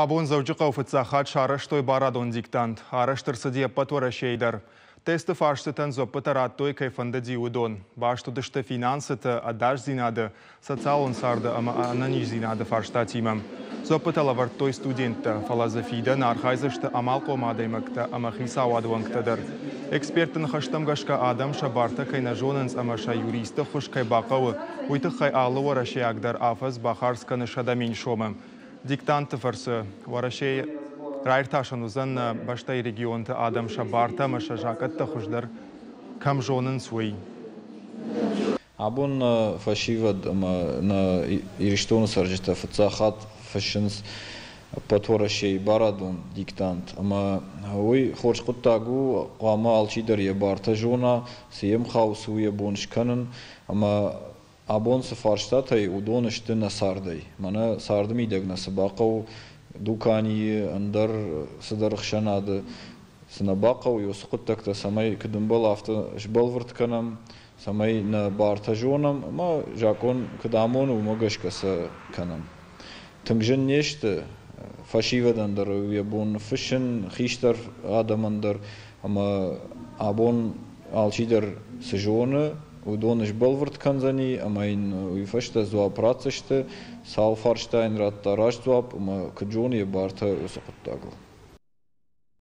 Абон Дзӕуджыхъӕуы фыццаг хатт сарӕзтой барадон диктант. Арӕзт ӕрцыди ӕппӕт Уӕрӕсейы дӕр. Тесты фарстытӕн дзуӕппытӕ радтой, кӕй фӕндыди, уыдон. Баст уыдысты финансыты, ӕдасдзинады, социалон царды ӕмӕ ӕнӕниздзинады фарстатимӕ. Дзуӕппытӕ лӕвӕрдтой студенттӕ, фӕлӕ дзы фидӕны архайдзысты амалхъом адӕймӕгтӕ ӕмӕ хицауады уӕнгтӕ дӕр. Экспертты ныхӕстӕм гӕсгӕ адӕм сӕ бартӕ кӕй нӕ зонынц ӕмӕ сӕ юристы ӕххуыс кӕй бахъӕуы, уый тыххӕй алы уӕрӕсейаг дӕр афӕдз бахардз кӕны 100 000 сомы. Диктанты фӕрцы Уӕрӕсейы раиртасӕн уыдзӕн нӕ бӕстӕйы регионты адӕм сӕ бартӕ ӕмӕ сӕ закъӕттӕ хуыздӕр кӕм зонынц, уый. Абон нӕ фӕсивӕд ӕмӕ нӕ Ирыстоны цӕрджытӕ фыццаг хатт фыссынц ӕппӕт Уӕрӕсейы барадон диктант. Ӕмӕ уый хорз хъуыддаг у, хъуамӕ алчидӕр йӕ бартӕ зона, цы йӕм хауы, цы у йӕ бон скӕнын. Ӕмӕ абон цы фарстатӕй, уыдон сты нӕ цардӕй. Мӕнӕ царды мидӕг нӕ цы бахъӕуы дуканийы, ӕндӕр цыдӕр ӕхсӕнады, цы нӕ бахъӕуы, уыцы хъуыддӕгтӕ цӕмӕй куыд ӕмбӕлы, афтӕ сбӕлвырд кӕнӕм, цӕмӕй нӕ бартӕ зонӕм ӕмӕ закъон куыд амоны, уымӕ гӕсгӕ сӕ кӕнӕм. Тынг зын не сты, фӕсивӕдӕн дӕр йӕ бон ныффыссын, хистӕр адӕмӕн дӕр, ӕмӕ абон алчидӕр цы зоны, уыдон сбӕлвырд кӕндзӕни ӕмӕ йын уый фӕстӕ дзуапп ратдзысты, цал фарста йын радта раст дзуапп ӕмӕ куыд зоны йӕ бартӕ уыцы хъуыддагыл.